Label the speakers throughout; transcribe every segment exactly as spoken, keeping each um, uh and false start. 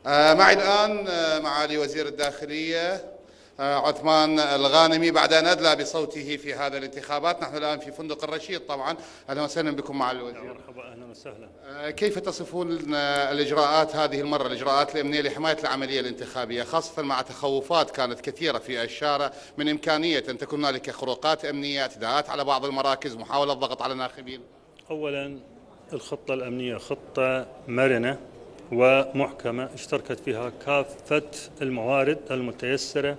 Speaker 1: آه، معي الآن آه، معالي وزير الداخلية آه، عثمان الغانمي بعد أن أدلى بصوته في هذا الانتخابات. نحن الآن في فندق الرشيد طبعا. أهلا وسهلا بكم معالي الوزير.
Speaker 2: مرحبا، أهلا وسهلا.
Speaker 1: آه، كيف تصفون آه، الإجراءات هذه المرة، الإجراءات الأمنية لحماية العملية الانتخابية، خاصة مع تخوفات كانت كثيرة في الشارع من إمكانية أن تكون هنالك خروقات أمنية، اعتداءات على بعض المراكز، محاولة ضغط على الناخبين؟
Speaker 2: أولا، الخطة الأمنية خطة مرنة ومحكمة اشتركت فيها كافة الموارد المتيسرة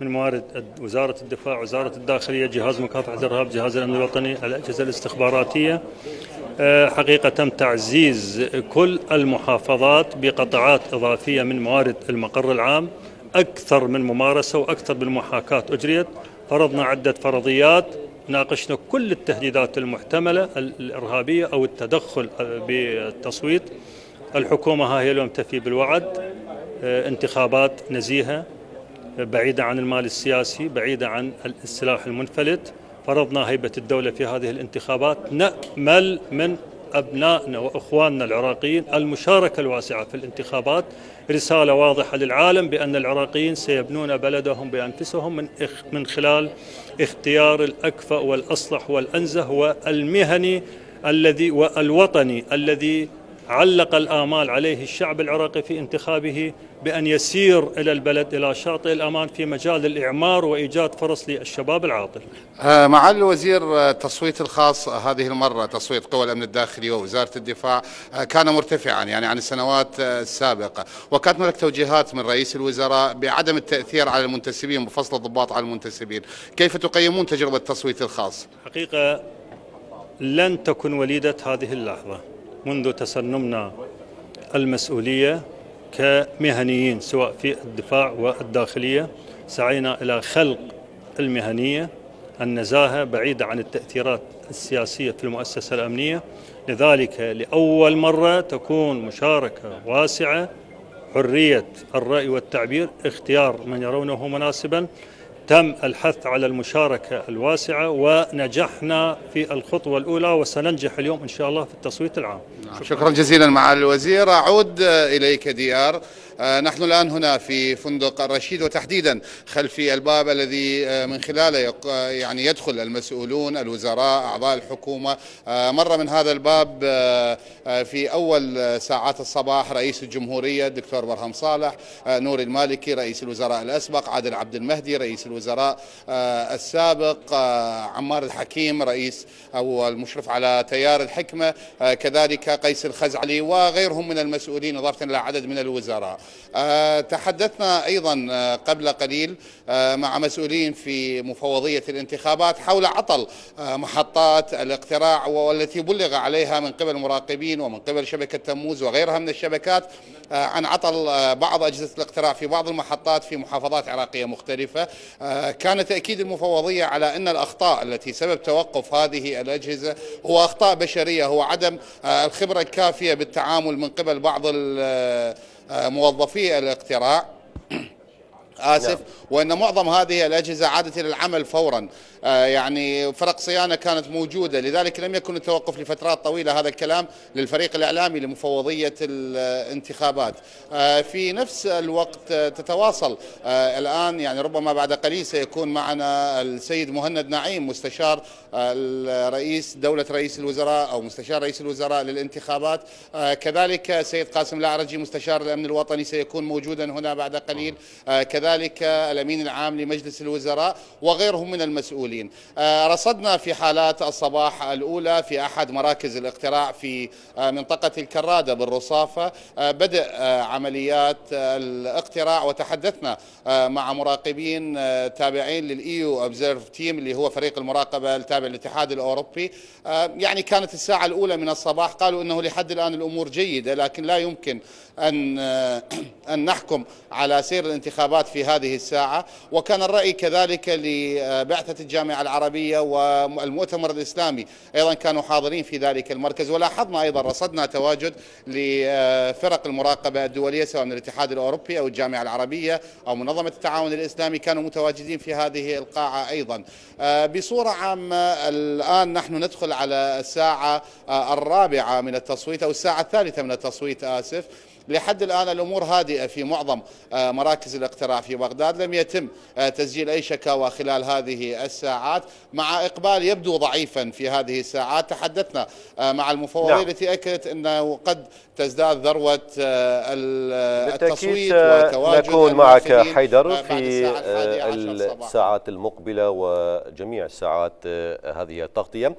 Speaker 2: من موارد وزارة الدفاع، وزارة الداخلية، جهاز مكافحة الإرهاب، جهاز الأمن الوطني، الأجهزة الاستخباراتية. حقيقة تم تعزيز كل المحافظات بقطاعات إضافية من موارد المقر العام، أكثر من ممارسة وأكثر من محاكاة أجريت. فرضنا عدة فرضيات، ناقشنا كل التهديدات المحتملة الإرهابية أو التدخل بالتصويت. الحكومة ها هي اليوم تفي بالوعد، انتخابات نزيهة بعيدة عن المال السياسي، بعيدة عن السلاح المنفلت. فرضنا هيبة الدولة في هذه الانتخابات. نأمل من أبنائنا وأخواننا العراقيين المشاركة الواسعة في الانتخابات، رسالة واضحة للعالم بأن العراقيين سيبنون بلدهم بأنفسهم من من خلال اختيار الأكفأ والأصلح والأنزه والمهني الذي والوطني الذي علق الآمال عليه الشعب العراقي في انتخابه بأن يسير إلى البلد إلى شاطئ الأمان في مجال الإعمار وإيجاد فرص للشباب العاطل.
Speaker 1: معالي الوزير، التصويت الخاص هذه المرة، تصويت قوى الأمن الداخلي ووزارة الدفاع، كان مرتفعا يعني عن السنوات السابقة، وكانت هناك توجيهات من رئيس الوزراء بعدم التأثير على المنتسبين، بفصل الضباط على المنتسبين. كيف تقيمون تجربة التصويت الخاص؟
Speaker 2: حقيقة لن تكن وليدة هذه اللحظة. منذ تسنمنا المسؤولية كمهنيين سواء في الدفاع والداخلية، سعينا إلى خلق المهنية، النزاهة، بعيدة عن التأثيرات السياسية في المؤسسة الأمنية. لذلك لأول مرة تكون مشاركة واسعة، حرية الرأي والتعبير، اختيار من يرونه مناسبا. تم الحث على المشاركة الواسعة ونجحنا في الخطوة الأولى، وسننجح اليوم إن شاء الله في التصويت العام.
Speaker 1: شكرا, شكرا جزيلا معالي الوزير. أعود إليك ديار. نحن الآن هنا في فندق الرشيد، وتحديدا خلفي الباب الذي من خلاله يعني يدخل المسؤولون، الوزراء، أعضاء الحكومة. مر من هذا الباب في أول ساعات الصباح رئيس الجمهورية الدكتور برهم صالح، نور المالكي رئيس الوزراء الأسبق، عادل عبد المهدي رئيس الوزراء السابق، عمار الحكيم رئيس أو المشرف على تيار الحكمة، كذلك قيس الخزعلي وغيرهم من المسؤولين، إضافة إلى عدد من الوزراء. أه تحدثنا أيضا قبل قليل أه مع مسؤولين في مفوضية الانتخابات حول عطل أه محطات الاقتراع، والتي بلغ عليها من قبل مراقبين ومن قبل شبكة تموز وغيرها من الشبكات أه عن عطل أه بعض أجهزة الاقتراع في بعض المحطات في محافظات عراقية مختلفة. أه كان تأكيد المفوضية على أن الأخطاء التي سبب توقف هذه الأجهزة هو أخطاء بشرية، هو عدم أه الخبرة الكافية بالتعامل من قبل بعض موظفي الاقتراع آسف، وأن معظم هذه الأجهزة عادت إلى العمل فورا. آه يعني فرق صيانة كانت موجودة، لذلك لم يكن التوقف لفترات طويلة. هذا الكلام للفريق الإعلامي لمفوضية الانتخابات. آه في نفس الوقت تتواصل آه الآن، يعني ربما بعد قليل سيكون معنا السيد مهند نعيم مستشار الرئيس دولة رئيس الوزراء أو مستشار رئيس الوزراء للانتخابات، آه كذلك سيد قاسم الأعرجي مستشار الأمن الوطني سيكون موجودا هنا بعد قليل، آه كذلك الأمين العام لمجلس الوزراء وغيرهم من المسؤولين. رصدنا في حالات الصباح الأولى في أحد مراكز الاقتراع في منطقة الكرادة بالرصافة بدء عمليات الاقتراع، وتحدثنا مع مراقبين تابعين للإيو أوبزيرف تيم اللي هو فريق المراقبة التابع للاتحاد الأوروبي. يعني كانت الساعة الأولى من الصباح، قالوا أنه لحد الآن الأمور جيدة، لكن لا يمكن أن أن نحكم على سير الانتخابات في هذه الساعة. وكان الرأي كذلك لبعثة الجامعة العربية والمؤتمر الإسلامي، أيضا كانوا حاضرين في ذلك المركز. ولاحظنا أيضا رصدنا تواجد لفرق المراقبة الدولية سواء من الاتحاد الأوروبي أو الجامعة العربية أو منظمة التعاون الإسلامي، كانوا متواجدين في هذه القاعة أيضا. بصورة عامة الآن نحن ندخل على الساعة الرابعة من التصويت أو الساعة الثالثة من التصويت آسف. لحد الآن الأمور هادئة في معظم مراكز الاقتراع في بغداد، لم يتم تسجيل أي شكاوى خلال هذه الساعات، مع إقبال يبدو ضعيفا في هذه الساعات. تحدثنا مع المفوضية نعم. التي أكدت أنه قد تزداد ذروة التصويت وتواجد
Speaker 3: نكون معك حيدر في الساعات المقبلة وجميع ساعات هذه التغطية.